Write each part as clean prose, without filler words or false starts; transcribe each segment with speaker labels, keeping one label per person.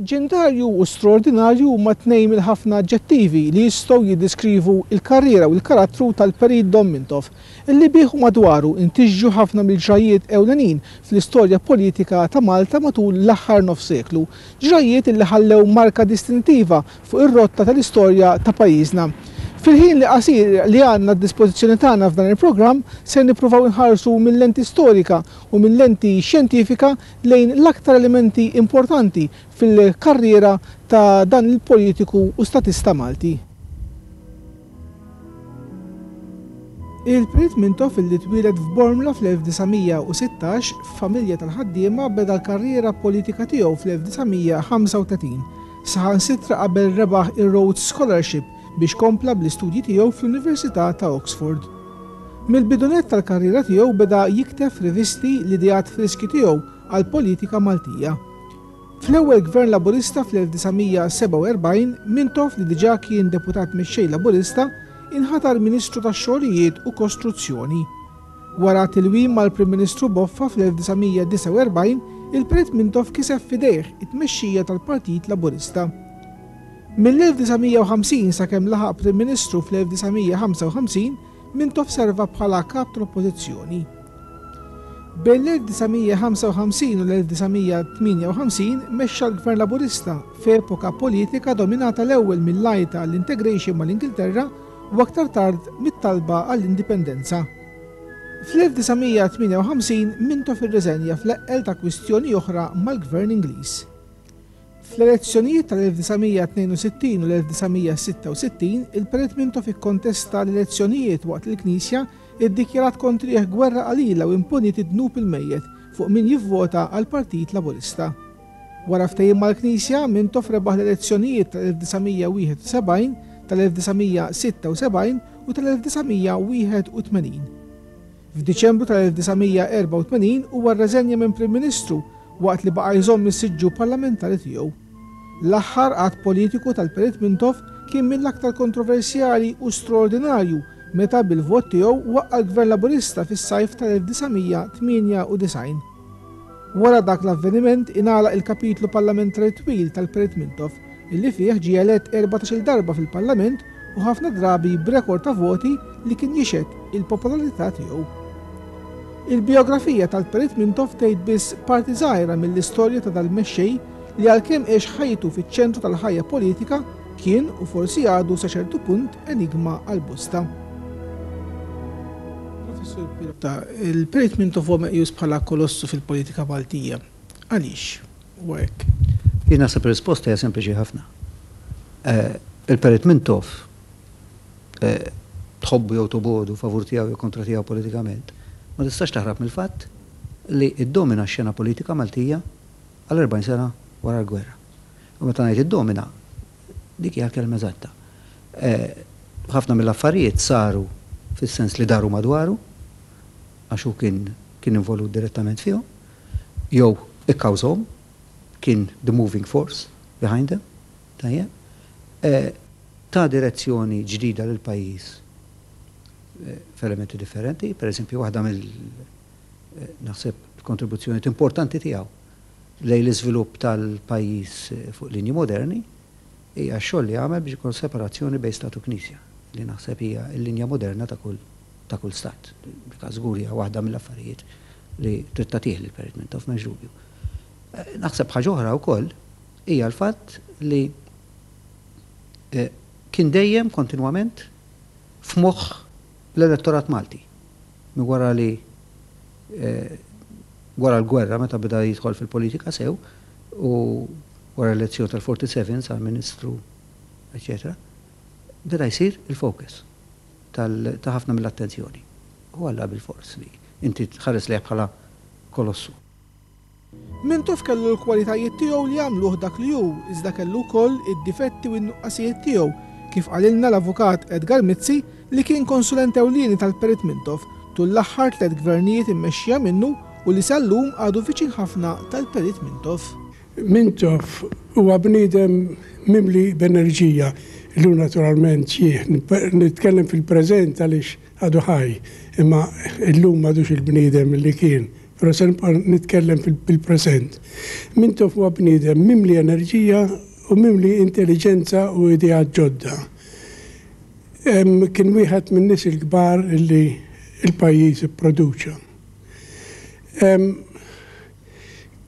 Speaker 1: Leġġendarju u straordinarju huma tnejn mill-ħafna aġġettivi li jistgħu jiddiskrivu l-karriera u l-karattru tal-Perit Dom Mintoff, illi bih u madwaru ntiġġu ħafna mill-ġrajjiet ewlenin fl-istorja politika ta' Malta matul l-aħħar nofs seklu, ġrajjiet illi ħallew marka distintiva fuq ir-rotta tal-istorja ta' pajjiżna. Fil-ħin li qasir li għandna għad-dispożizzjoni tagħna f'dan il-programm ser nippruvaw inħarsu minn lenti storika u minn lenti xjentifika lejn l-aktar elementi importanti fil-karriera ta' dan il-politiku u statista Malti. Il-Perit Mintoff illi twieled f'Bormla fl-1916 f'familja tal-ħaddiema beda l-karriera politika tiegħu fl-1935, saħansitra qabel rebaħ ir-Rhodes Scholarship biex kompla bl-istudji tiegħu fl-Università ta' Oxford. Mill-bidu nett tal-karriera tiegħu beda jikteb f'rivisti l-ideat friski tiegħu għall-politika Maltija. Fl-ewwel Gvern Laburista fl-1947, Mintoff li diġà kien Deputat Mexxej Laburista, inħatar Ministru tax-Xogħlijiet u Kostruzzjoni. Wara tilwim mal-Prim Ministru Boffa fl-1949, il-Perit Mintoff kiseb f'idejh it-tmexxija tal-Partit Laburista. Mill-1950 sakemm laħaq Prim Ministru fl-1955, Mintoff serva bħala Kap tal-Oppożizzjoni. Bejn l-1955 u l-1958 mexxa l-Gvern Laburista f'epoka politika dominata l-ewwel mill-għajta għall-integration mal-Ingilterra u aktar tard mit-talba għall-indipendenza. Fl-1958 Mintoff irriżenja fl-eqqel ta' kwistjoni oħra mal-Gvern Ingliż. Fl-elezzjonijiet tal-1962 u l-1966, il-Perit Mintoff ikkontesta l-elezzjonijiet waqt li l-Knisja ddikjarat kontrih gwerra qalila u imponiet id-dnub il-mejjet fuq min jivvota għall-Partit Laburista. Wara ftehim mal-Knisja, Mintoff rebaħ l-elezzjonijiet tal-1971, tal-1976 u tal-1981. F'Diċembru tal-1984 huwa rreżenja minn Prim Ministru waqt li baqa' jżomm is-siġġu parlamentari tiegħu. L-aħħar att politiku tal-Perit Mintoff kien mill-aktar kontroversjali u straordinarju meta bil-vot tiegħu waqqa' l-Gvern Laburista fis-sajf tal-1998. Wara dak l-avveniment ingħalaq il-kapitlu parlamentari twil tal-Perit Mintoff illi fih ġie elett 14-il darba fil-Parlament u ħafna drabi b'rekord ta' voti li kien jixhed il-popolarità tiegħu. Il-bijografija tal-Perit Mintoff tgħid biss parti żgħira mill-istorja ta' dal-mexxej li għalkemm għex ħajtu fiċ-ċentru tal-ħajja politika, kien u forsi għadu sa ċertu punt enigma għal bosta. Professur Pirotta, il-Perit Mintoff huwa meqjus bħala kolossu fil-politika Maltija. Għaliex huwa hekk?
Speaker 2: Jien naħseb ir-risposta hija sempliċi ħafna. Il-Perit Mintoff tħobbu jew tobogħdu, favur tiegħu jew kontra tiegħu politikament, ma tistax taħrab mill-fatt li ddomina x-xena politika Maltija għal 40 sena wara l-gwerra. U meta ngħid iddomina, dik hija l-kelma eżatta. Ħafna mill-affarijiet saru fis-sens li daru madwaru, għax hu kien kien involut direttament fihom, jew ikkawżahom, kien the moving force behind them, tajjeb. Ta direzzjoni ġdida lill-pajjiż f'elementi differenti, per eżempju waħda mill naħseb kontribuzzjonijiet importanti tiegħu lejn l-iżvilupp tal-pajjiż fuq linji moderni hija x-xogħol li għamel biex ikun separazzjoni bejn stat u knisja, li naħseb hija l-linja moderna ta' kull ta' kull stat. Dik żgur hija waħda mill-affarijiet li trid tagħtih lil Perit Mintoff m'hemmx dubju. Naħseb ħaġa oħra wkoll hija l-fatt li kien dejjem kontinwament f'moħħ l-elettorat Malti. Minn wara li wara l-gwerra meta beda jidħol fil-politika sew u wara l-elezzjoni tal-47 sar ministru, eċetera, beda jsir il-focus ta' ħafna mill-attenzjoni. U Alla bilfors li inti tħares lejh bħala kolossu.
Speaker 1: Mintoff kellu l-kwalitajiet tiegħu li għamluh dak li hu, iżda kellu wkoll id-difetti u n-nuqqasijiet tiegħu, kif qalilna l-Avukat Edgar Mizzi li kien konsulent ewlieni tal-Perit Mintoff tul l-aħħar tlett gvernijiet immexxija minnu u li sal-lum għadu viċin ħafna tal-Perit Mintoff.
Speaker 3: Mintoff huwa bniedem mimli b'enerġija. Illum naturalment xiħ, nitkellem fil-preżent għaliex għadu ħaj, imma illum m'għadux il-bniedem li kien. Però se nibqa' nitkellem bil-preżent. Mintoff huwa bniedem mimli enerġija u mimli intelliġenza u ideat ġodda. Kien wieħed min-nies il-kbar li l-pajjiż ipproduċa.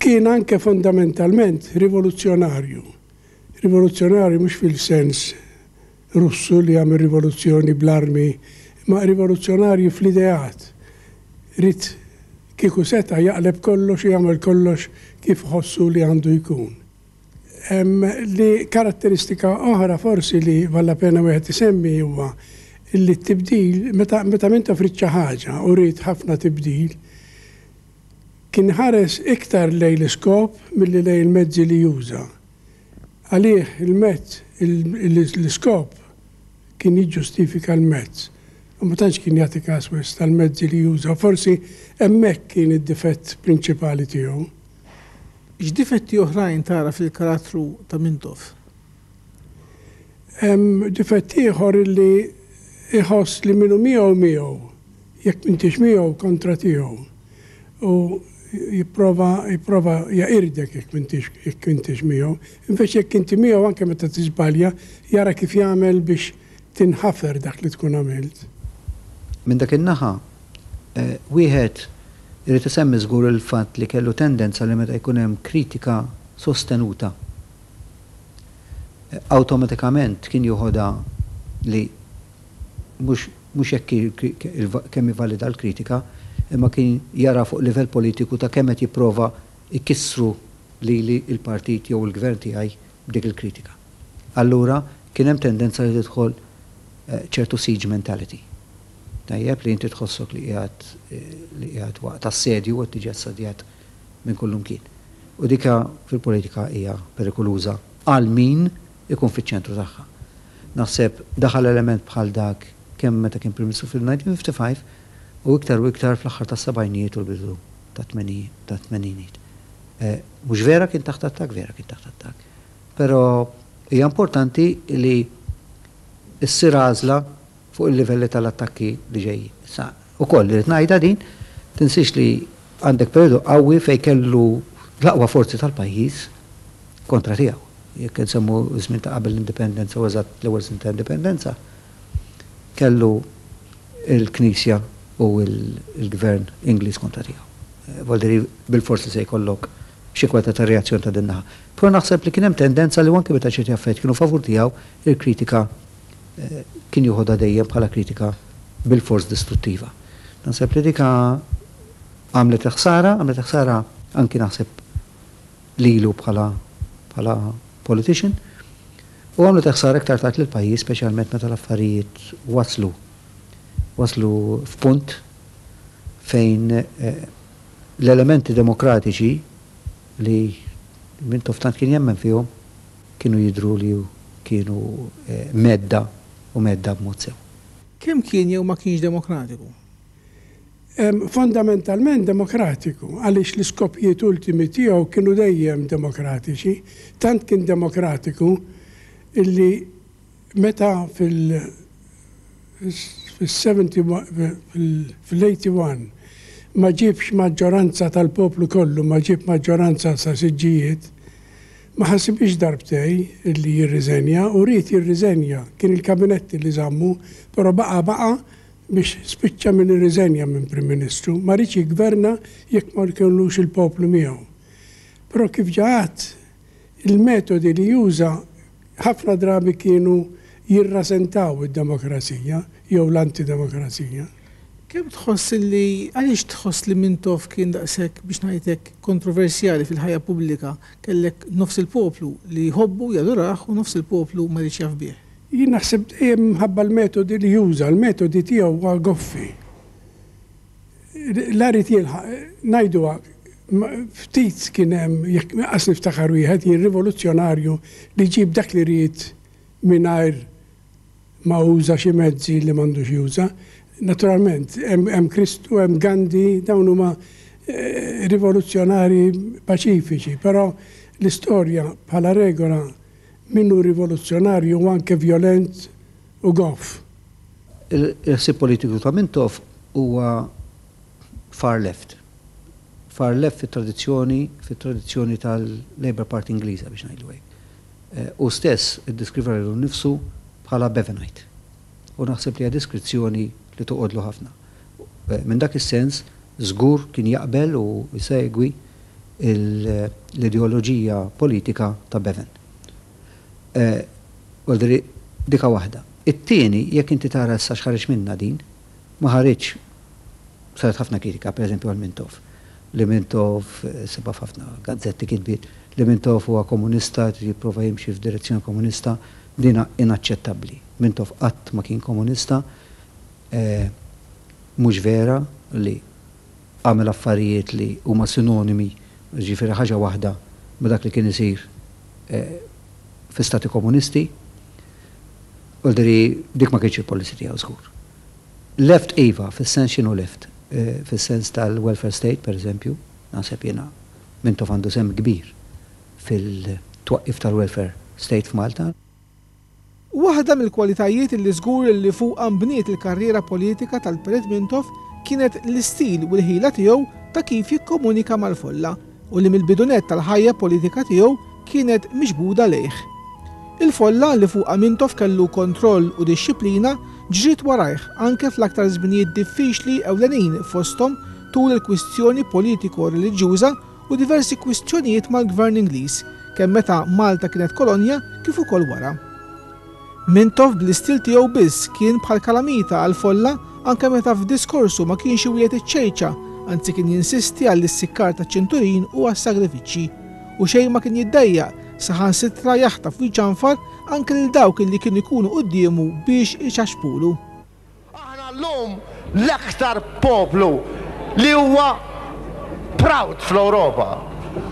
Speaker 3: Kien anke fondamentalment rivoluzzjonarju. Rivoluzzjonarju mhux fil-sens Russu li għamel rivoluzzjoni bl-armi, imma rivoluzzjonarju fl-ideat. Ried kieku seta' jaqleb kollox u jagħmel kollox kif iħossu li għandu jkun. Li karatteristika oħra forsi li vallapena wieħed isemmi huwa li t-tibdil, meta meta Mintoff ried xi ħaġa u ried ħafna tibdil, kien iħares iktar lejn l-iskop milli lejn il-mezzi li juża. Għalih il-mezz, l-iskop kien jiġġustifika l-mezz. U ma tantx kien jagħti każ wisq tal-mezzi li juża. Forsi hemmhekk kien id-difett prinċipali tiegħu.
Speaker 1: X'difetti oħrajn tara fil-karattru ta' Mintoff?
Speaker 3: Hemm difett ieħor illi jħoss li min hu miegħu miegħu, jekk m'intix miegħu kontra tiegħu. U jipprova jipprova jeqirdek jekk m'intix jekk intix miegħu. Invece jekk inti miegħu anke meta tiżbalja jara kif jagħmel biex tinħafer dak li tkun għamilt.
Speaker 2: Minn dak in-naħa, wieħed irid isemmi żgur il-fatt li kellu tendenza li meta jkun hemm kritika sostenuta, awtomatikament kien joħodha li mhux mhux jekk kemm hi valida l-kritika, imma kien jara fuq livell politiku ta' kemm qed jipprova jkissru lili l-partit jew il-gvern tiegħi b'dik il-kritika. Allura kien hemm tendenza li tidħol ċertu siege mentality. Tajjeb li inti tħossok li qiegħed li qiegħed waqt assedju u qed tiġi assedjat minn kullumkien. U dika fil-politika hija perikoluża għal min ikun fiċ-ċentru tagħha. Naħseb daħal element bħal dak kemm meta kien Prim Ministru fil-1955 u iktar u iktar fl-aħħar tas-sebgħinijiet u l-bidu tat-tmeninijiet. Mhux vera kien taħt attakk, vera kien taħt attakk. Però hija importanti li ssir għażla fuq il-livelli tal-attakki li ġejjin. Issa, ukoll irrid ngħidha din, tinsiex li għandek perjodu qawwi fejn kellu l-aqwa forzi tal-pajjiż kontra tiegħu. Jekk insemmu ż-żmien ta' qabel l-Indipendenza u eżatt l-ewwel snin ta' Indipendenza, kellu l-Knisja u l-Gvern Ingliż kontra tiegħu. Vuol dire bilfors li se jkollok xi kwalità ta' reazzjoni ta' din naħa. Però naħseb li kien hemm tendenza li anke meta ċerti affarijiet kienu favur tiegħu, il-kritika kien joħodha dejjem bħala kritika bilfors distruttiva. Naħseb li dik għamlet il-ħsara, għamlet il-ħsara anki naħseb lilu bħala bħala politician u għamlet il-ħsara iktar tard lill-pajjiż speċjalment meta l-affarijiet waslu waslu f'punt fejn l-elementi demokratiċi li Mintoff tant kien jemmen fihom kienu jidhru li kienu mhedda u mhedda b'mod sew.
Speaker 1: Kemm kien jew ma kienx demokratiku?
Speaker 3: Fondamentalment demokratiku, għaliex l-iskopijiet ultimi tiegħu kienu dejjem demokratiċi. Tant kien demokratiku illi meta fil fil-81 ma ġiebx maġġoranza tal-poplu kollu, ma ġieb maġġoranza sa siġġijiet, ma ħasibhiex darbtej illi jirriżenja u ried jirriżenja. Kien il-kabinett li żammu, però baqa' baqa' biex spiċċa min irriżenja minn Prim Ministru. Ma riedx jiggverna jekk ma jkollux il-poplu miegħu. Però kif ġa għedt, il-metodi li juża ħafna drabi kienu jirrasentaw id-demokrazija jew l-antidemokrazija.
Speaker 1: Kemm tħoss li, għaliex tħoss li Mintoff kien daqshekk, biex ngħid hekk, kontroversjali fil-ħajja pubblika? Kellek nofs il-poplu li jħobbu, jadurah u nofs il-poplu ma jridx jaf bih.
Speaker 3: Jien naħseb dejjem minħabba l-metodi li juża, l-metodi tiegħu huwa goffi. La ried jilħaq, ngħiduha, ftit kien hemm, jekk qas niftakar wieħed jien rivoluzzjonarju li ġieb dak li ried mingħajr ma uża xi mezzi li m'għandux juża. Naturalment, hemm Kristu, hemm Gandhi, dawn huma rivoluzzjonarji paċifiċi, però l-istorja bħala regola min hu rivoluzzjonarju hu anke vjolent u goff.
Speaker 2: Il-ħsieb politiku ta' Mintoff huwa far left. Far left fit-tradizzjoni fit-tradizzjoni tal-Labour Party Ingliża biex ngħidlu hekk. Hu stess iddeskriva lilu nnifsu bħala Bevanite. U naħseb li hija deskrizzjoni li toqgħodlu ħafna. Minn dak is-sens żgur kien jaqbel u jsegwi l-ideoloġija politika ta' Bevan. Vuol dire dika waħda. It-tieni, jekk inti tara issa x'ħareġ minnha din, ma ħariġx, saret ħafna kritika pereżempju għal Mintoff, li Mintoff, ssibha f'ħafna gazzetti kitbiet, li Mintoff huwa komunista, jrid jipprova jimxi f'direzzjoni komunista, din inaċċettabbli. Mintoff qatt ma kien komunista, mhux vera li għamel affarijiet li huma sinonimi, jiġifieri ħaġa waħda ma' dak li kien isir fi stati komunisti. Vuol dire dik ma kienx il-policy tiegħu żgur. Left iva, fis-sens x'inhu left? Fis-sens tal-welfare state, per eżempju, naħseb jiena Mintoff għandu sehem kbir fil-twaqqif tal-welfare state f'Malta.
Speaker 1: Waħda mill-kwalitajiet li żgur li fuqha nbniet il-karriera politika tal-Perit Mintoff kienet l-istil u l-ħila tiegħu ta' kif jikkomunika mal-folla u li mill-bidu nett tal-ħajja politika tiegħu kienet miġbuda lejh. Il-folla, li fuqha Mintoff kellu kontroll u dixxiplina, ġriet warajh anke fl-aktar żminijiet diffiċli ewlenin fosthom tul il-kwistjoni politiko-reliġjuża u diversi kwistjonijiet mal-Gvern Ingliż, kemm meta Malta kienet kolonja kif ukoll wara. Mintoff bl-istil tiegħu biss kien bħal kalamita għall-folla anke meta f'diskorsu ma kienx iwiegħed iċ-ċejċa, anzi kien jinsisti għall-issikkar taċ-ċinturin u għas-sagrifiċċji. U xejn ma kien jiddejjaq, saħansitra jaħtaf u jċanfar anke lil dawk illi kienu jkunu quddiemu biex iċaxxpulu.
Speaker 4: Aħna llum l-aktar poplu li huwa proud fl-Ewropa.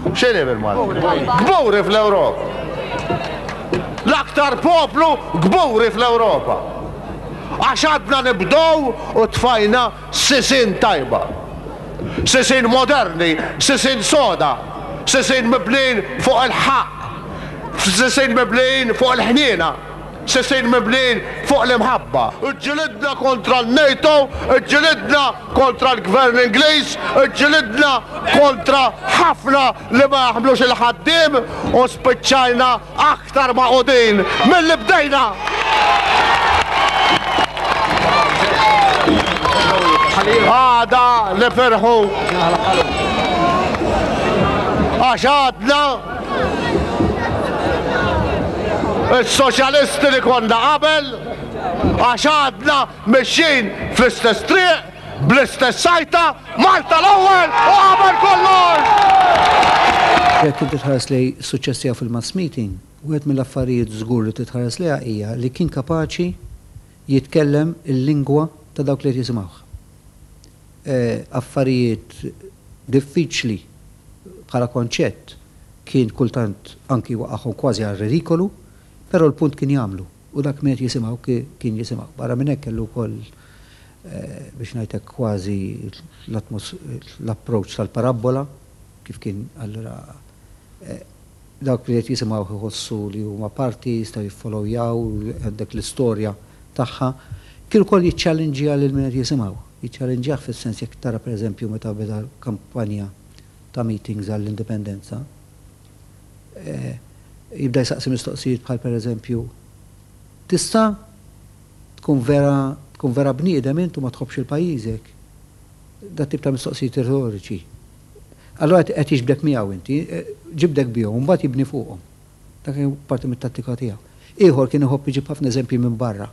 Speaker 4: X'inhi bil-Malti? Kburi fl-Ewropa. L-aktar poplu kburi fl-Ewropa. Għax għadna nibdew u tfajna sisien tajba. Sisien moderni, sisien soda, sisien mibnijin fuq il-ħaqq, sisien mibnijin fuq il-ħniena. Sisien mibnijin fuq l-imħabba. Iġġilidna kontra n-NATO, iġġilidna kontra l-Gvern Ingliż, iġġilidna kontra ħafna li ma jaħmlux il-ħaddiem u spiċċajna aktar magħqudin milli bdejna! Għada nifirħu għax għadna Is-soċjalisti li konna qabel, għax għadna mexjin fl-istess triq, bl-istess għajta, Malta l-ewwel u qabel kollox!
Speaker 2: Jekk inti tħares lejn is-suċċess tiegħu fil-mass meeting, wieħed mill-affarijiet żgur li trid tħares lejha hija li kien kapaċi jitkellem il-lingwa ta' dawk li qed jisimgħuh. Affarijiet diffiċli bħala konċett kien kultant anki jwaqqagħhom kważi għar-ridikolu, però l-punt kien jagħmlu u dak min qed jisimgħu kien jisimgħu. Barra minn hekk kellu wkoll biex ngħid hekk kważi l-approach tal-parabbola kif kien allura dawk li qed jisimgħuh iħossu li huma parti, jistgħu jiffollowjaw għandek l-istorja tagħha. Kien ukoll jiċċallinġja lil min qed jisimgħu. Jiċċallinġjah fis-sens jekk tara pereżempju meta beda l-kampanja ta' meetings għall-indipendenza, jibda jsaqsi mistoqsijiet bħal pereżempju, Tista' tkun vera tkun vera bniedem int u ma tħobbx il pajjiżek? Dat-tip ta' mistoqsijiet retoriċi. Allura qed jiġbdek miegħu inti, ġibdek bihom u mbagħad jibni fuqhom. Dak kien parti mit-tattika tiegħu. Ieħor kien iħobb iġib ħafna eżempji minn barra.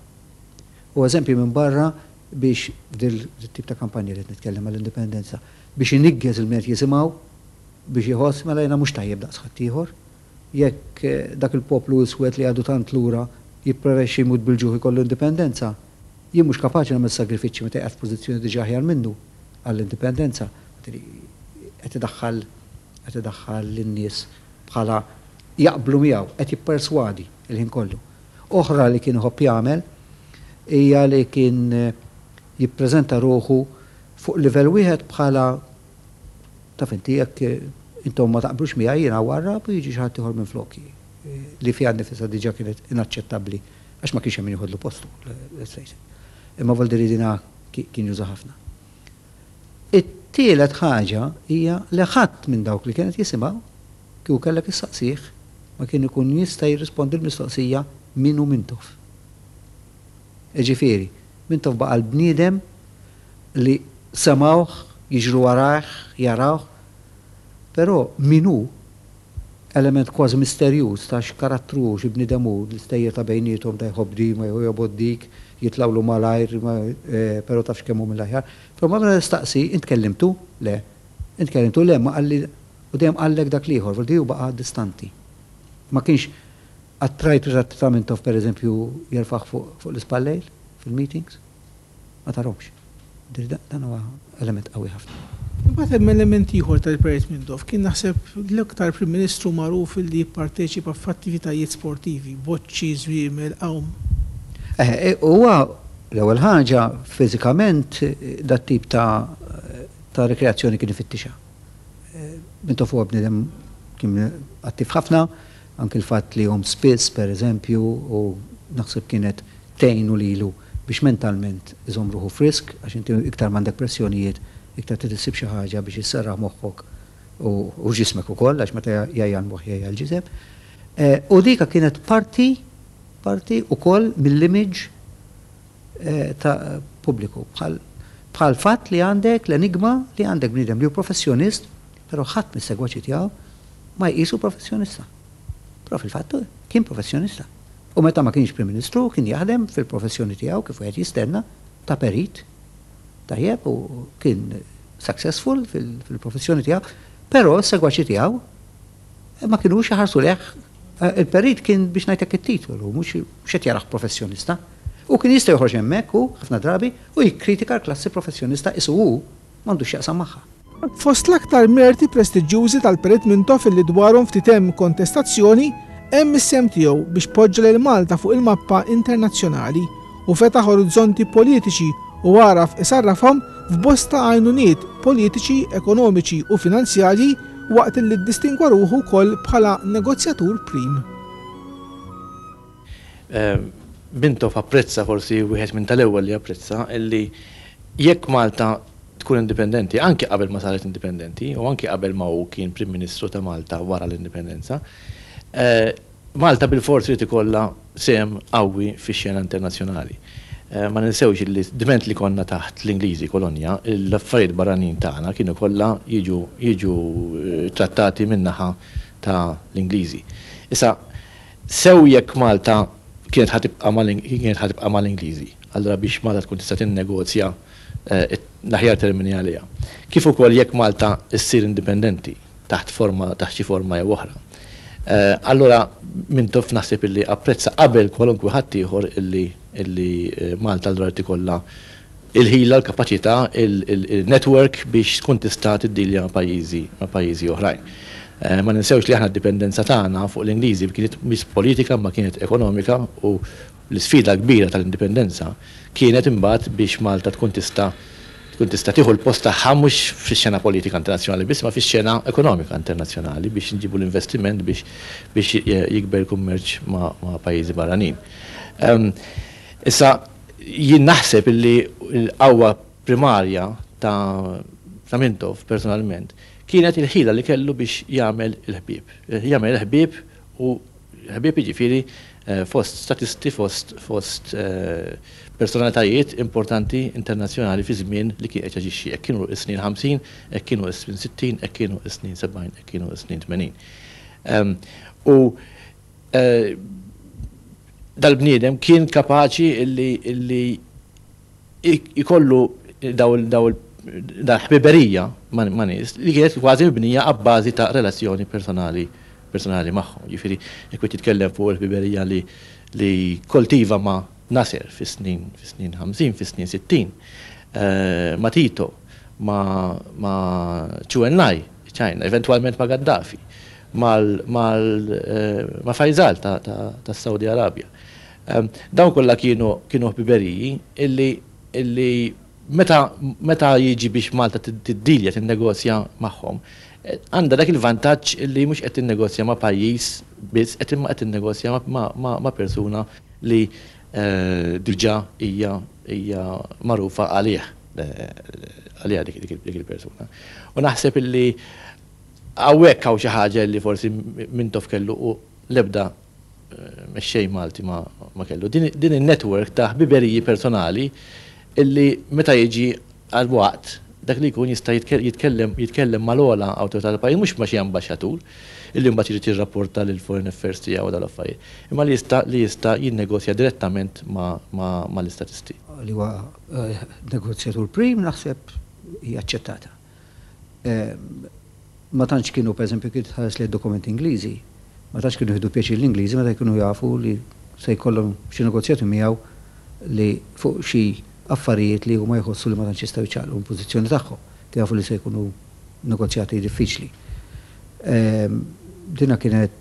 Speaker 2: U eżempji minn barra biex f'dil tip ta' kampanja li qed nitkellem għall-indipendenza, biex iniggeż il min qed jisimgħu biex iħoss mela jiena mhux tajjeb daqs ħaddieħor. Jekk dak il-poplu iswed li għadu tant lura jippreferixxi jmut bil-ġuħ ikollu indipendenza, jien mhux kapaċi nagħmel sagrifiċċji meta qiegħed f'pożizzjoni diġà aħjar minnu għall-indipendenza. Qed idaħħal qed idaħħal lin-nies bħala jaqblu miegħu, qed jipperswadi l-ħin kollu. Oħra li kien iħobb jagħmel hija li kien jippreżenta ruħu fuq livell wieħed bħala taf inti jekk intom ma taqblux miegħi jiena warrab u jiġi xi ħadd ieħor minfloki li fiha nnifisha diġà kienet inaċċettabbli għax ma kienx hemm min joħodlu postu, let's face it. Imma Valdiridina kien juża ħafna. It-tielet ħaġa hija li ħadd minn dawk li kien qed jisimgħu, kieku kellek issaqsih, ma kien ikun jista' jirrispondi l-mistoqsija min hu Mintoff. Jiġifieri, Mintoff baqa' l-bniedem li semgħuh, jiġru warajh, jarawh, però min hu, element kważi misterjuż ta' x'karattru hu, xi bniedem hu, l-istejjer ta' bejniethom ta' jħobb din ma jobgħod dik, jitlgħulu malajr, però tafx kemm hu mill-aħjar. Però meta tistaqsi, int kellimtu? Le. Int kellimtu? Le, ma qalli, u dejjem qallek dak l-ieħor, vuol dire hu baqa' distanti. Ma kienx, qatt rajt ritratt ta' Mintoff pereżempju jerfagħ fuq l-ispallejl fil-meetings? Ma tarhomx. Dan huwa element qawwi ħafna.
Speaker 1: Imbagħad hemm element ieħor tal-Perit Mintoff. Kien naħseb l-iktar Prim Ministru magħruf li jipparteċipa f'attivitajiet sportivi, boċċi, żwiemel, għawm.
Speaker 2: Eħe, huwa l-ewwel ħaġa fiżikament dat-tip ta' ta' rikreazzjoni kien ifittixha. Mintoff huwa bniedem kien attiv ħafna, anki l-fatt li jgħum spiss pereżempju u naħseb kienet tgħinu lilu biex mentalment iżomm ruħu frisk, għax inti iktar m'għandek pressjonijiet, iktar trid issib xi ħaġa biex isserraħ moħħok u ġismek ukoll, għax meta jgħajja l-moħħ jgħajja l-ġisem. U dika kienet parti parti ukoll mill-image ta' pubbliku. Bħal bħal fatt li għandek l-enigma li għandek bniedem li hu professjonist, però ħadd mis-segwaċi tiegħu ma jqisu professjonista. Però fil-fatt kien professjonista. U meta ma kienx Prim Ministru kien jaħdem fil-professjoni tiegħu kif wieħed jistenna ta' perit tajjeb u kien successful fil-professjoni tiegħu, però s-segwaċi tiegħu ma kinux iħarsu lejh. Il-perit kien biex ngħidlek it-titolu, mhux qed jarah professjonista. U kien jista' joħroġ hemmhekk hu ħafna drabi u jikkritika l-klassi professjonista qisu hu m'għandux x'jaqsam magħha.
Speaker 1: Fost l-aktar merti prestiġjużi tal-Perit Mintoff illi dwarhom ftit hemm kontestazzjoni, hemm is-sehem tiegħu biex poġġa lil Malta fuq il-mappa internazzjonali u fetaħ orizzonti politiċi u għaraf isarrafhom f'bosta għajnuniet politiċi, ekonomiċi u finanzjarji waqt illi ddistingwa ruħu wkoll bħala negozjatur prim.
Speaker 5: Mintoff apprezza, forsi wieħed minn tal-ewwel li apprezza, illi jekk Malta tkun indipendenti, anki qabel ma saret indipendenti u anki qabel ma hu kien Prim Ministru ta' Malta wara l-indipendenza, Malta bilfors irid ikollha sehem qawwi fix-xena internazzjonali. Ma ninsewx illi dment li konna taħt l-Ingliżi, kolonja, l-affarijiet barranin tagħna kienu kollha jiġu jiġu trattati min-naħa ta' l-Ingliżi. Issa, Sew jekk Malta kienet ħa tibqa' mal kienet ħa tibqa' mal-Ingliżi, allura biex Malta tkun tista' tinnegozja l-aħjar termini għaliha, kif ukoll jekk Malta ssir indipendenti taħt forma taħt xi forma jew oħra. Allura Mintoff naħseb illi apprezza qabel kwalunkwe ħaddieħor illi illi Malta allura jrid ikollha il-ħila, l-kapaċità, il-network biex tkun tista' tiddilja ma' pajjiżi ma' pajjiżi oħrajn. Ma ninsewx li aħna d-dipendenza tagħna fuq l-Ingliżi kienet mhix politika imma kienet ekonomika u l-isfida l-kbira tal-indipendenza kienet imbagħad biex Malta tkun tista' tkun tista' tieħu l-post tagħha mhux fix-xena politika internazzjonali biss imma fix-xena ekonomika internazzjonali biex inġibu l-investiment biex biex jikber il-kummerċ ma' ma' pajjiżi barranin. Issa Jien naħseb illi l-qawwa primarja ta' ta' Mintoff personalment kienet il-ħila li kellu biex jagħmel il-ħbieb. Jagħmel il-ħbieb u ħbieb jiġifieri fost statisti, fost fost personalitajiet importanti internazzjonali fi żmien li kien qed jaġixxi. Hekk kienu s-snin 50, hekk kienu s-snin 60, hekk kienu s-snin 70, hekk kienu s-snin 80. U Dal-bniedem kien kapaċi illi illi jkollu daw daw dal-ħbiberija ma' nies li kienet kważi mibnija abbażi ta' relazzjoni personali personali magħhom. Jiġifieri jekk wieħed jitkellem fuq il-ħbiberija li li kkoltiva ma' Nasser fis-snin fis-snin 50, fis-snin 60, ma' Tito, ma' ma' Chu Enlai, China, eventwalment ma' Gaddafi. ma' Faisal tas-Saudi Arabja. Dawn kollha kienu kienu ħbiberiji illi illi meta meta jiġi biex Malta tiddilja, tinnegozja magħhom, għandha dak il-vantaġġ illi mhux qed tinnegozja ma' pajjiż biss qed imma qed tinnegozja ma' persuna li diġà hija hija magħrufa għalih. għaliha dik il-persuna. U naħseb illi hawnhekk hawn xi ħaġa li forsi Mintoff kellu u l-ebda mexxej Malti ma kellu. Din in-network ta' ħbiberiji personali illi meta jiġi għal waqt dak li jkun jista' jitkellem jitkellem mal-ogħla awtorità tal-pajjiż, mhux ma' xi ambaxxatur illi mbagħad irid jirrapporta lil foreign affairs tiegħu u dal-affarijiet, imma li jista' li jista' jinnegozja direttament mal-istatisti.
Speaker 2: Li huwa negozjatur prim naħseb hija aċċettata. Ma tantx kienu, pereżempju, kif tħares lejn dokumenti Ingliżi, ma tantx kienu jieħdu pjaċir l-Ingliżi meta jkunu jafu li se jkollhom xi negozjati miegħu li fuq xi affarijiet li huma jħossu li ma tantx jistgħu jċaqlqu mill-pożizzjoni tagħhom. Kienu jafu li se jkunu negozjati diffiċli. Dina kienet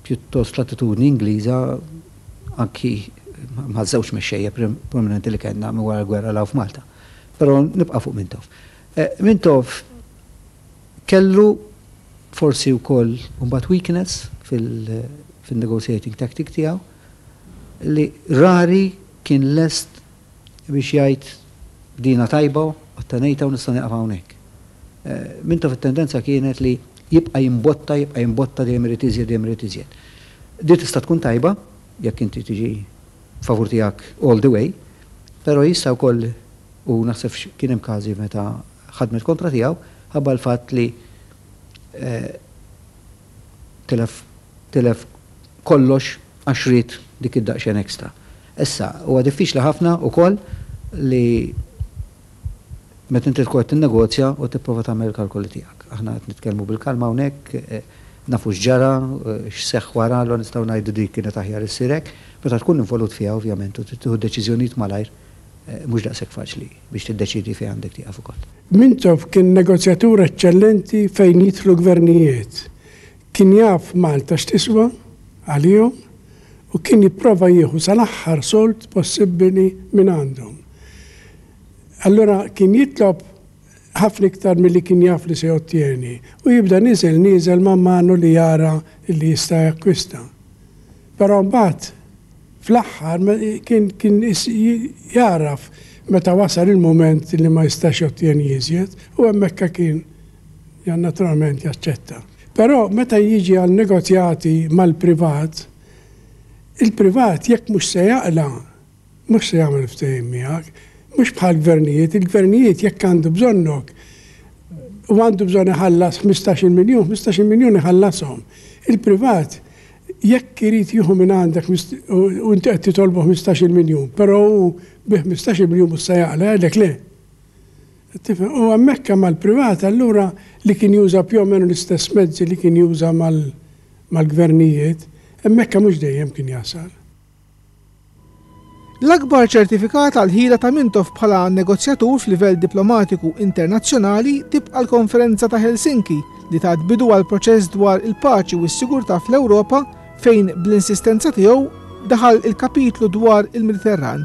Speaker 2: pjuttost l-attitudni Ingliża anki maż-żewġ mexxejja prominenti li kellna minn wara l-gwerra 'l hawn f'Malta. Però nibqa' fuq Mintoff. Mintoff kellu forsi wkoll mbagħad weakness fil-negotiating tactic tiegħu li rari kien lest biex jgħid dina tajba, ottenejtha u nista' nieqaf hawnhekk. Mintoff it-tendenza kienet li jibqa' jimbotta, jibqa' jimbotta dejjem irid iżjed, dejjem irid iżjed. Di tista' tkun tajba jekk inti tiġi favur tiegħek all the way, però jista' wkoll u naħseb kien hemm każi meta ħadmet kontra tiegħu ħabba l-fatt li tilef tilef kollox għax ried dik id-daqsxejn extra. Issa, huwa diffiċli ħafna wkoll li meta inti tkun qed tinnegozja u tipprova tagħmel il-kalkoli tiegħek. Aħna qed nitkellmu bil-kalma hawnhekk, nafu x'ġara, x'seħħ wara, allura nistgħu ngħidu dik kienet aħjar issir hekk. Meta tkun involut fiha ovvjament u trid tieħu deċiżjonijiet malajr, mhux daqshekk faċli biex tiddeċiedi fejn għandek tieqaf ukoll.
Speaker 3: Mintoff kien negozjatur eċċellenti fejn jidħlu gvernijiet. Kien jaf Malta x'tiswa għalihom u kien jipprova jieħu sal-aħħar sold possibbili mingħandhom. Allura kien jitlob ħafna iktar milli kien jaf li se jottjeni u jibda nieżel nieżel man manu li jara li jista' jakkwista. Però mbagħad fl-aħħar kien kien jagħraf meta wasal il-mument li ma jistax jottjeni iżjed u hemmhekk kien naturalment jaċċetta. Però meta jiġi għal negozjati mal-privat, il-privat jekk mhux se jaqla' mhux se jagħmel ftehim miegħek. Mhux bħall-gvernijiet, il-gvernijiet jekk għandu bżonnok u għandu bżonn iħallas 15-il miljun, 15-il miljun iħallashom. Il-privat jekk irid jieħu minn għandek u inti qed titolbu 15-il miljun, però hu bi 15-il miljun mhux se jaqla' jgħidlek le. Tifhem? U hemmhekk mal-privat allura li kien juża più o meno l-istess mezzi li kien juża mal-gvernijiet, hemmhekk mhux dejjem kien jasal.
Speaker 1: L-akbar ċertifikat għall-ħila ta' Mintoff bħala negozjatur f'livell diplomatiku internazzjonali tibqa' l-Konferenza ta' Helsinki li tat bidu għall-proċess dwar il-paċi u s-sigurtà fl-Ewropa fejn bl-insistenza tiegħu daħal il-kapitlu dwar il-Mediterran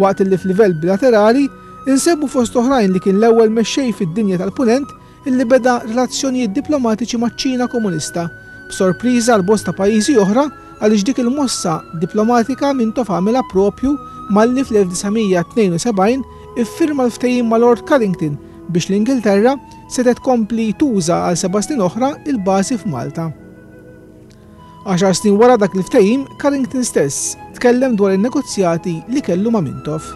Speaker 1: waqt li f'livell bilaterali insemmu fost oħrajn li kien l-ewwel mexxej fid-dinja tal-Punent illi beda relazzjonijiet diplomatiċi maċ-Ċina Komunista, b'sorpriża għal bosta pajjiżi oħra għaliex dik il-mossa diplomatika Mintoff għamilha proprju malli fl-1972 iffirma l-ftehim ma' Lord Carrington biex l-Ingilterra setgħet tkompli tuża għal seba' snin oħra l-bażi f'Malta. Għaxar snin wara dak il-ftehim, Carrington stess tkellem dwar in-negozjati li kellu ma' Mintoff.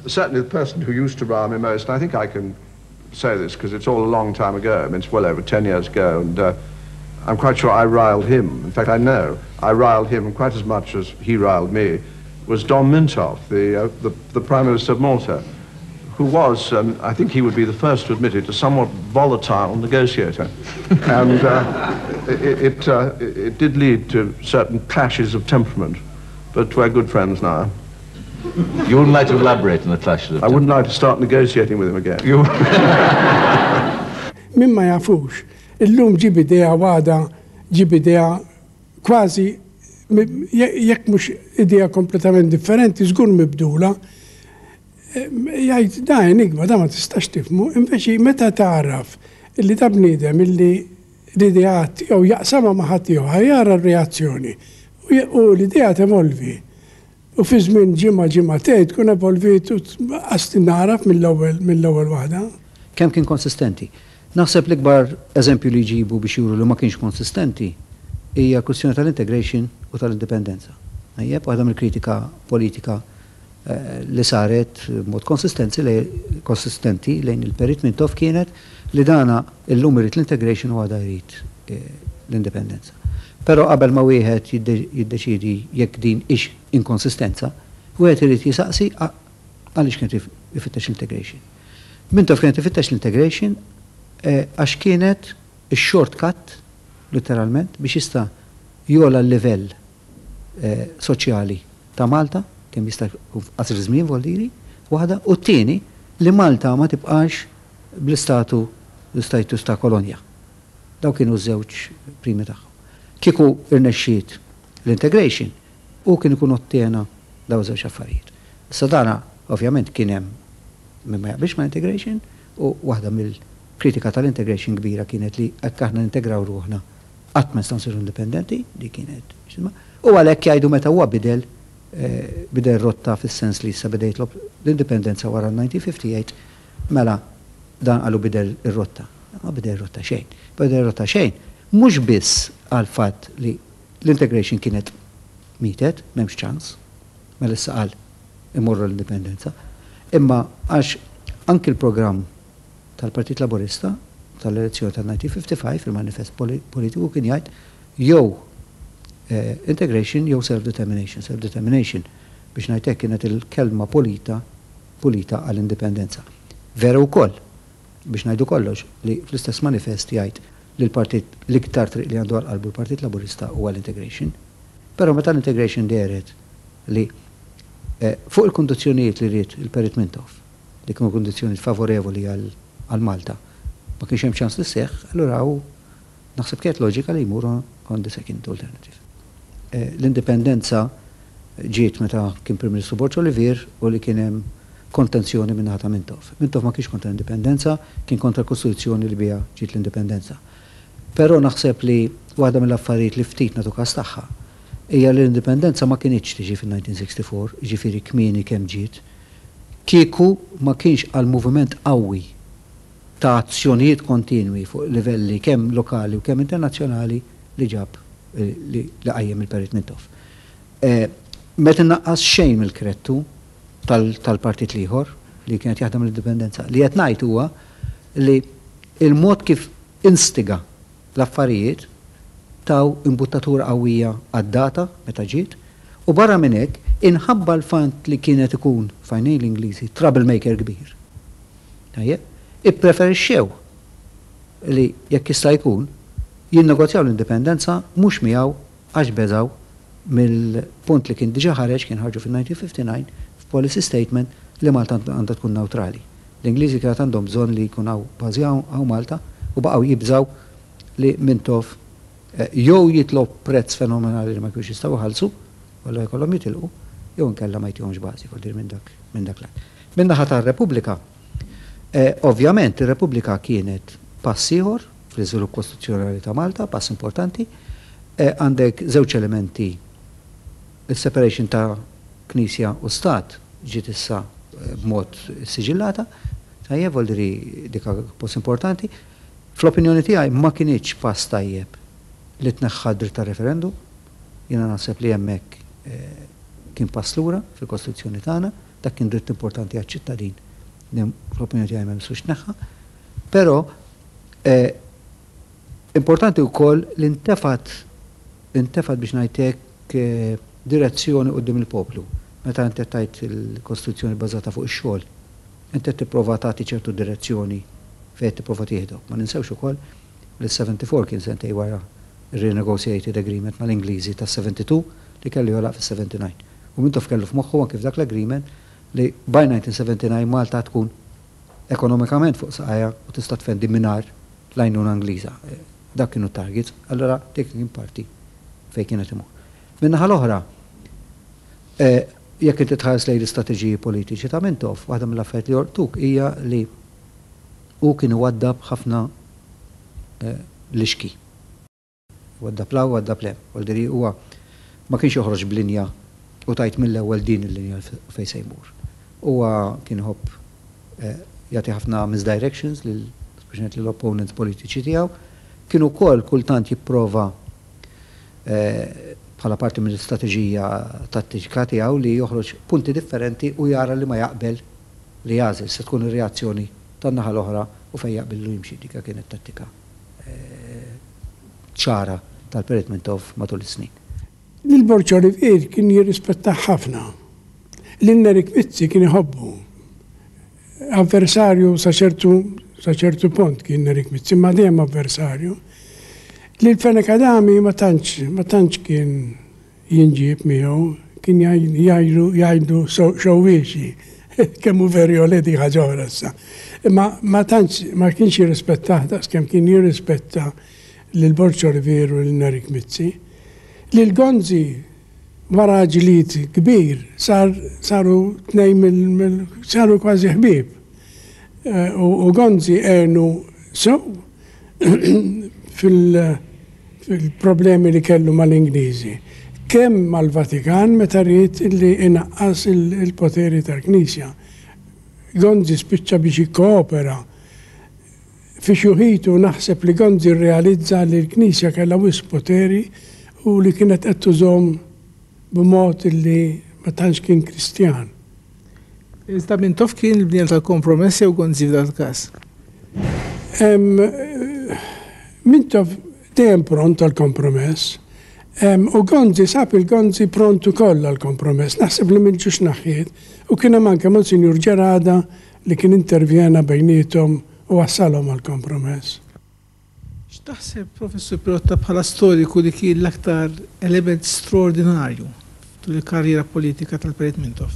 Speaker 4: Certainly the person who used to rile me most, and I think I can say this because it's all a long time ago, I mean it's well over 10 years ago, and I'm quite sure I riled him, in fact I know I riled him quite as much as he riled me, was Dom Mintoff, the, the, the Prime Minister of Malta, who was, I think he would be the first to admit it, a somewhat volatile negotiator. and it, it, it did lead to certain clashes of temperament, but we're good friends now.
Speaker 6: You wouldn't like to elaborate on the clashes of
Speaker 4: I wouldn't like to start negotiating with him again.
Speaker 6: You
Speaker 3: Min ma jafux, illum ġib idea u għada ġib idea kważi jekk mhux idea kompletament differenti, żgur mibdula. Jgħid da enigma, da ma tistax tifhmu, inveci meta tagħraf illi da bniedem illi l-ideat tiegħu jaqsamha ma' ħaddieħor, ħa jara r-reazzjoni u l-idea tevolvi. U fi żmien ġimgħa ġimgħatejn tkun evolviet u qas tingħaraf mill-ewwel mill-ewwel waħda.
Speaker 2: Kemm kien konsistenti? Naħseb l-ikbar eżempju li jġibu biex juru li ma kienx konsistenti hija l-kwistjoni tal-integration u tal-indipendenza. Tajjeb, waħda mill-kritika politika li saret b'mod konsistenzi konsistenti lejn il-Perit Mintoff kienet li dana illum irid l-integration u għada jrid l-indipendenza. Però qabel ma wieħed jiddeċiedi jekk din hix inkonsistenza, wieħed irid jisaqsi għaliex kien qed ifittex l-integration. Mintoff kien qed ifittex l-integration għax kienet ix-shortcut, litteralment, biex jista' jogħla l-livell soċjali ta' Malta, kemm jista' jkun f'qasir żmien voldiri, waħda, u t-tieni li Malta ma tibqax bl-istatu l-istatus ta' kolonja. Dawk kienu ż-żewġ primi tagħhom. Kieku rnexxiet l-integration, hu kien ikun ottjena dawn iż-żewġ affarijiet. Issa dana ovvjament kien hemm min ma jaqbilx mal-integration u waħda mill-kritika tal-integration kbira kienet li hekk aħna nintegraw ruħna qatt ma nistgħu nsiru indipendenti, dik kienet x'isma', u għalhekk jgħidu meta huwa bidel bidel rotta fis-sens li issa beda jitlob l-indipendenza wara l-1958, mela dan qalu bidel ir-rotta. Ma bidel ir-rotta xejn. Bidel ir-rotta xejn mhux biss għall-fatt li l-integration kienet mietet, m'hemmx ċans, mela issa qal imorru l-indipendenza, imma għax anki l-programm tal-Partit Laburista tal-elezzjoni tal-1955, il-manifest politiku kien jgħid jew integration jew self-determination. Self-determination, biex ngħid hekk, kienet il-kelma pulita pulita għall-indipendenza. Veru wkoll, biex ngħidu kollox, li fl-istess manifest jgħid li l-partit l-iktar triq li għandu għal qalbu l-Partit Laburista huwa l-integration. Però meta l-integration dehret li fuq il-kundizzjonijiet li ried il-Perit Mintoff, li kienu kundizzjonijiet favorevoli għal Malta, ma kienx hemm ċans li sseħħ, allura hu naħseb kienet loġika li jmur on the second alternative. L-indipendenza ġiet meta kien Prim Ministru Borg Olivier u li kien hemm kontenzjoni min-naħa ta' Mintoff. Mintoff ma kienx kontra l-indipendenza, kien kontra l-Kostituzzjoni li biha ġiet l-indipendenza. Però naħseb li waħda mill-affarijiet li ftit nagħtu kas tagħha hija li l-indipendenza ma kinitx tiġi fin-1964, jiġifieri kmieni kemm ġiet, Kieku ma kienx għal moviment qawwi ta' azzjonijiet kontinwi fuq livelli kemm lokali u kemm internazzjonali li ġab li qajjem il-Perit Mintoff. Ma qed innaqqas xejn mill-krettu tal-partit l-ieħor li kien qed jaħdem l-indipendenza. Li qed ngħid huwa li l-mod kif instiga l-affarijiet taw imbuttatura qawwija għad-data meta ġiet u barra minn hekk inħabba l-fatt li kien qed ikun, f'għajnejn l-Ingliżi, troublemaker kbir. Tajjeb? Ippreferixxew li jekk jista' jkun jinnegozjaw l-indipendenza mhux miegħu għax beżgħu mill-punt li kien diġà ħareġ, kien ħarġu fin-1959 f'policy statement li Malta għandha tkun newtrali. L-Ingliżi kienet għandhom bżonn li jkun hawn bażi hawn Malta u baqgħu jibżgħu li Mintoff jew jitlob prezz fenomenali li ma jkunux jistgħu jħallsu u allura jkollhom jitilqu jew inkella ma jtihomx bażi, vuol dire minn dak minn dak l-att. Min-naħa tar-Repubblika, ovvjament ir-Repubblika kienet pass ieħor fl-iżvilupp kostituzzjonali ta' Malta, pass importanti. Għandek żewġ elementi, is-separation ta' Knisja u Stat ġiet issa b'mod issiġillata, tajjeb, vuol dire dik post importanti. Fl-opinjoni tiegħi ma kinitx pass tajjeb li tneħħa d-dritt tar-referendum. Jiena naħseb li hemmhekk kien pass lura fil-Kostituzzjoni tagħna. Dak kien dritt importanti għaċ-ċittadin li fl-opinjoni tiegħi ma jmissux tneħħa. Però importanti wkoll li ntefgħet intefgħet biex ngħid hekk direzzjoni quddiem il-poplu. Meta inti qed tgħid il-Kostituzzjoni bbażata fuq ix-xogħol, inti qed tipprova tagħti ċertu direzzjoni fejn qed tipprova tieħdok. Ma ninsewx ukoll li s-74 kien sentejn wara r-renegotiated agreement mal-Ingliżi tas-72 li kellu jogħlaq fis-79. U Mintoff kellu f'moħħu anki f'dak l-agreement li by 1979 Malta tkun ekonomikament fuq saqajha u tista' tfendi mingħajr l-għajnuna Ingliża. Dak kienu t-targets, allura dik kien parti fejn kien qed imur. Min-naħa l-oħra, jekk inti tħares lejn l-istrateġiji politiċi ta' Mintoff, waħda mill-affarijiet li jolqtuk hija li hu kien iwaddab ħafna lixki. Waddab 'l hawn, waddab 'l hemm. Vuol dire huwa ma kienx joħroġ b'linja. u tgħid mill-ewwel din il-linja fejn se jmur. Huwa kien iħobb jagħti ħafna misdirections lil speċjalment lill-opponents politiċi tiegħu. Kien ukoll kultant jipprova bħala parti mill-istrateġija tattika tiegħu li joħroġ punti differenti u jara li ma jaqbel li jagħżel se tkun ir-reazzjoni tan-naħa l-oħra u fejn jaqbillu jimxi. Dik kienet tattika ċara tal-Perit Mintoff matul is-snin.
Speaker 3: Lil Borg Olivier kien jirrispettah ħafna. Lil Nerik Mizzi kien iħobbu. Avversarju sa ċertu sa ċertu punt kien Nerik Mizzi, imma dejjem avversarju. Lil Fenech Adami ma tantx ma tantx kien jinġieb miegħu, kien jgħidlu jgħidlu xewwiexi. Kemm hu veru jew le dik ħaġa oħra issa. Imma ma tantx ma kienx jirrispettah daqs kemm kien jirrispetta lil Borg Olivier u lil Nerik Mizzi. Lil Gonzi wara ġlied kbir sar saru tnejn mill saru kważi ħbieb. U Gonzi għenu sew fil fil-problemi li kellu mal-Ingliżi. Kemm mal-Vatikan meta ried li inaqqas il-poteri tal-Knisja. Gonzi spiċċa biex jikkoopera. Fi xjuħitu naħseb li Gonzi rrealizza li l-Knisja kellha wisq poteri u li kienet qed tużhom b'mod li ma tantx kien Kristjan.
Speaker 1: Iżda Mintoff kien il-bniedem tal-kompromess jew Gonzi f'dan il-każ?
Speaker 3: Mintoff dejjem pront għall-kompromess. U Gonzi sab il-Gonzi pront ukoll għall-kompromess. Naħseb li minn ġiex naħjiet. U kien hemm anke Monsinjur Gerada li kien intervjena bejniethom u wassalhom għall-kompromess.
Speaker 1: X'taħseb, Professur Pirotta, bħala storiku li kien l-aktar element straordinarju tul il-karriera politika tal-Perit Mintoff?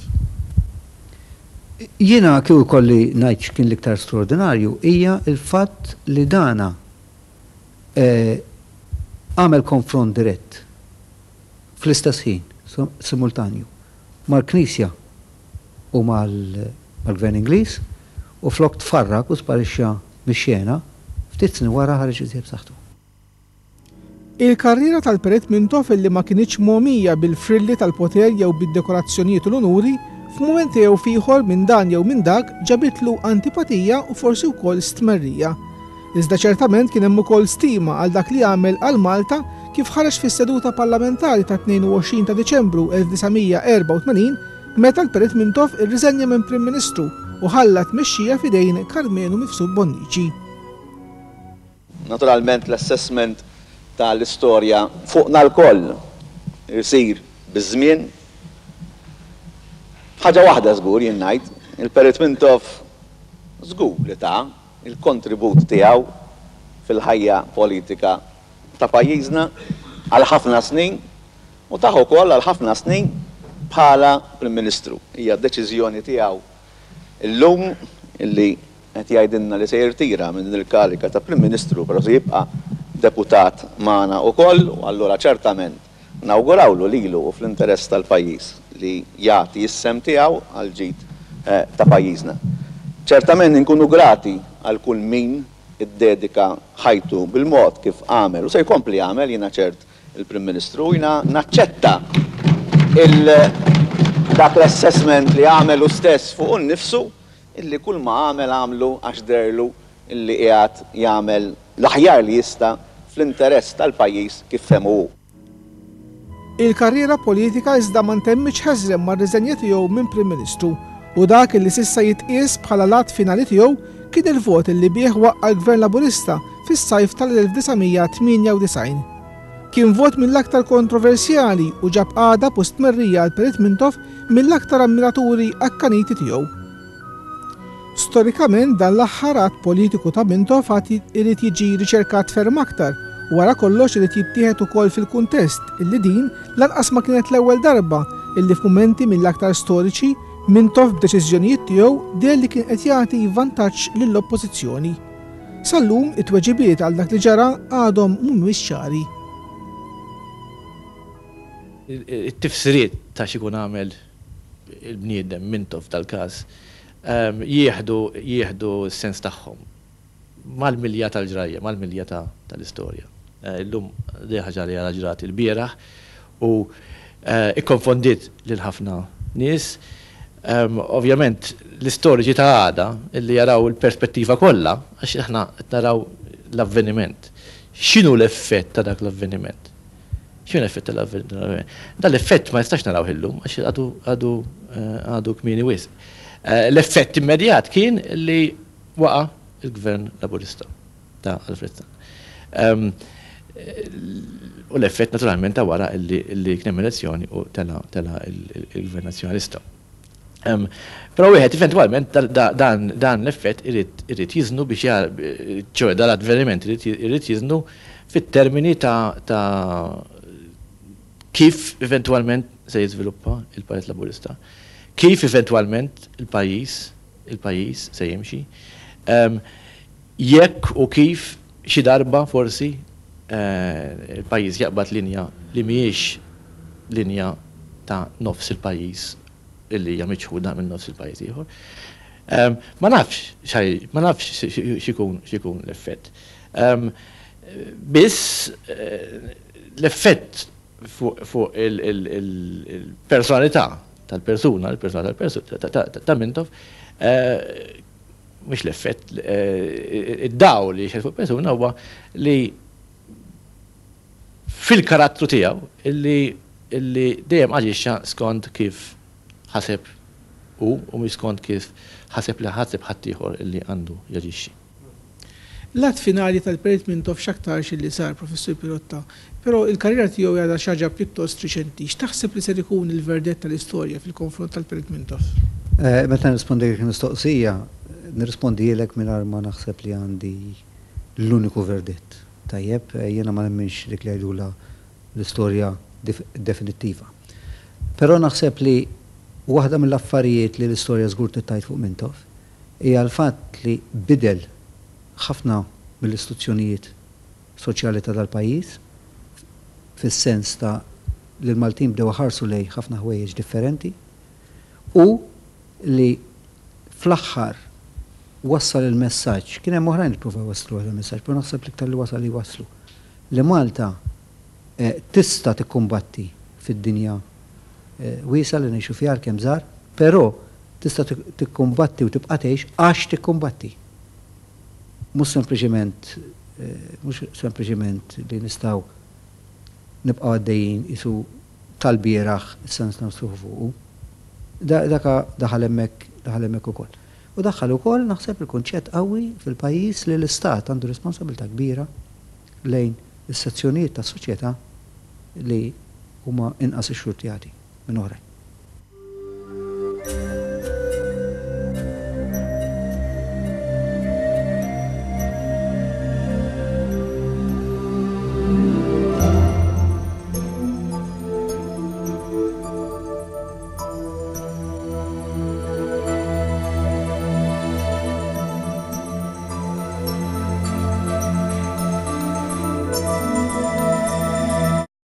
Speaker 2: Jiena kieku jkolli ngħid x'kien l-iktar straordinarju hija l-fatt li dana għamel konfront dirett fl-istess ħin, simultanju, mal-Knisja u mal-Gvern Ingliż u flok tfarrak u sparixxa mix-xena, ftit snin wara ħareġ iżjed b'saħħtu.
Speaker 1: Il-karriera tal-Perit Mintoff illi ma kinitx mogħmija bil-frilli tal-poter jew bid-dekorazzjonijiet u l-unuri, f'mument jew f'ieħor minn dan jew minn dak ġabitlu antipatija u forsi wkoll stmerrija. Iżda ċertament kien hemm ukoll stima għal dak li għamel għal Malta kif ħareġ fis-seduta parlamentari tat-22 ta' Diċembru 1984 meta l-Perit Mintoff irriżenja minn Prim Ministru u ħalla t-tmexxija f'idejn Karmenu Mifsud Bonnici.
Speaker 7: Naturalment l-assessment ta' l-istorja fuqna lkoll isir biż-żmien. Ħaġa waħda żgur jien ngħid, il-Perit Mintoff żgur li ta il-kontribut tiegħu fil-ħajja politika ta' pajjiżna għal ħafna snin u tah ukoll għal ħafna snin bħala Prim Ministru. Hija deċiżjoni tiegħu llum li qed jgħidilna li se jirtira minn din il-kariga ta' Prim Ministru però se jibqa' deputat magħna ukoll u allura ċertament Nawgurawlu lilu u fl-interess tal-pajjiż li jagħti s-sehem tiegħu għall-ġid ta' pajjiżna. Ċertament inkunu grati għal kull min iddedika ħajtu bil-mod kif għamel u se jkompli jagħmel, jiena ċert, il-Prim Ministru u jiena naċċetta dak l-assessment li għamel hu stess fuqu nnifsu illi kull ma għamel għamlu għax deherlu illi qiegħed jagħmel l-aħjar li jista' fl-interess tal-pajjiż kif fehmu hu.
Speaker 1: Il-karriera politika iżda ma ntemmitx ħeżrem mar-riżenja tiegħu minn Prim Ministru u dak illi s'issa jitqies bħala l-att finali tiegħu kien il-vot illi bih waqqa' l-Gvern Laburista fis-sajf tal-1998. Kien vot mill-aktar kontroversjali u ġab għadab u stmerrija għal Perit Mintoff mill-aktar ammiraturi akkaniti tiegħu. Storikament dan l-aħħar att politiku ta' Mintoff għad irid jiġi riċerkat ferm aktar u wara kollox irid jittieħed ukoll fil-kuntest illi din lanqas ma kienet l-ewwel darba illi f'mumenti mill-aktar storiċi Mintoff b'deċiżjonijiet tiegħu deher li kien qed jagħti vantaġġ lill-Oppożizzjoni. Sal-lum it-tweġibiet għal dak li ġara għadhom mhumiex ċari.
Speaker 5: It-tifsiriet ta' x'ikun għamel il-bniedem Mintoff f'dal-każ jieħdu jieħdu s-sens tagħhom mal-milja tal-ġrajja, mal-milja tal-istorja. Illum din ħaġa li għadha ġrat ilbieraħ u Ikkonfondiet lil ħafna nies. Ovvjament l-istoriċi ta' għada illi jaraw il-perspettiva kollha, għax aħna qed naraw l-avveniment. X'inhu l-effett ta' dak l-avveniment? X'inhu l-effett tal-avveniment? Dan l-effett ma nistax narawh illum għax għadu għadu għadu kmieni wisq. L-effett immedjat kien li waqa' l-Gvern Laburista ta' Alfred Sant. U l-effett naturalment ta' wara li kien hemm elezzjoni u tela' tela' il-Gvern Nazzjonalista. Però wieħed eventwalment dan l-effett irid jiżnu biex ċoe dan l-avveniment irid jiżnu fit-termini ta' kif eventwalment se jiżviluppa il-Partit Laburista, kif eventwalment il-pajjiż il-pajjiż se jimxi, jekk u kif xi darba forsi il-pajjiż jaqbad linja li mhijiex linja ta' nofs il-pajjiż illi hija miċħuda minn nofs il-pajjiż ieħor. Ma nafx x'ħaj, ma nafx x'ikun x'ikun l-effett. Biss l-effett fuq il-personalità tal-persuna, il-personalità tal-persuna ta' Mintoff, mhux l-effett, id-dawl li jixgħel fuq persuna huwa li fil-karattru tiegħu illi illi dejjem aġixxa skont kif ħaseb hu u mhux skont kif ħaseb li ħaseb ħaddieħor illi għandu jaġixxi.
Speaker 1: L-att finali tal-Perit Mintoff x'aktarx illi sar, Professur Pirotta, però il-karriera tiegħu hi għadha xi ħaġa pjuttost riċenti. X'taħseb li ser ikun il-verdett tal-istorja fil-konfront tal-Perit Mintoff?
Speaker 2: Meta nirrispondilek il-mistoqsija, nirrispondihielek mingħajr ma naħseb li għandi l-uniku verdett. Tajjeb, jiena ma nemminx dik li jgħidulha l-istorja definittiva. Però naħseb li waħda mill-affarijiet li l-istorja żgur trid tgħid fuq Mintoff hija l-fatt li bidel ħafna mill-istituzzjonijiet soċjali ta' dal-pajjiż, fis-sens ta' li l-Maltin bdew iħarsu lejn ħafna ħwejjeġ differenti u li fl-aħħar wassal il-messaġġ, kien hemm oħrajn li ppruvaw iwasslu dan il-messaġġ, però naħseb l-iktar li wasal li wasslu, li Malta tista' tikkumbatti fid-dinja wiesgħa li ngħixu fiha għalkemm żgħar, però tista' tikkumbatti u tibqa' tgħix għax tikkumbatti. Mhux sempliċiment mhux sempliċiment li nistgħu nibqgħu għaddejjin qisu tal-bieraħ issa nistgħu nistrieħu fuqu. Daka daħal hemmhekk daħal hemmhekk ukoll. U daħħal ukoll naħseb il-kunċett qawwi fil-pajjiż li l-istat għandu responsabilità kbira lejn is-sezzjonijiet tas-soċjetà li huma inqas ixxurtjati minn oħrajn.